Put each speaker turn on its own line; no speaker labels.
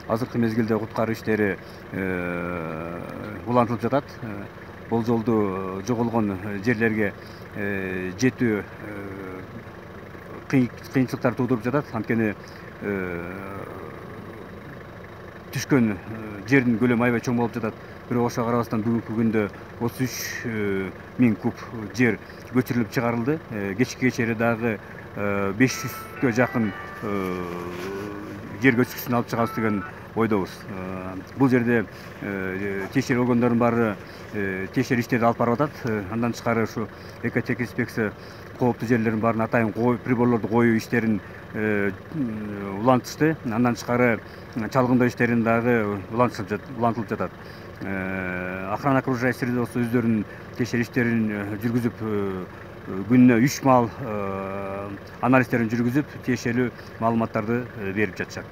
азыркы мезгилде куткаруу иштери улантылып жатат. Болжолдуу жоголгон жерлерге жетүү кыйынчылыктар туудуруп жатат. Анткени түшкөн жердин көлөмү аябай чоң болуп жатат. Бирок ошого карабастан бүгүнкү күндө 33.000 куб жер көчүрүлүп чыгарылды. Кечке чейин дагы 500гө жакын жер көчкүчүн алып чыгабыз деген ойдобуз. Бул жерде тиешелүү органдардын баары тиешелүү иштерди алып барып атат. Андан тышкары ушу экотех инспекция кооптуу жерлердин баарын атайын приборлорду коюу иштерин улантышты. Андан тышкары чалгындоо иштерин дагы улантылып жатат. Охрана окружающей среды болсо өздөрүнүн тиешелүү иштерин жүргүзүп, күнүнө 3 маал анализдерин жүргүзүп, тиешелүү маалыматтарды берип жатышат.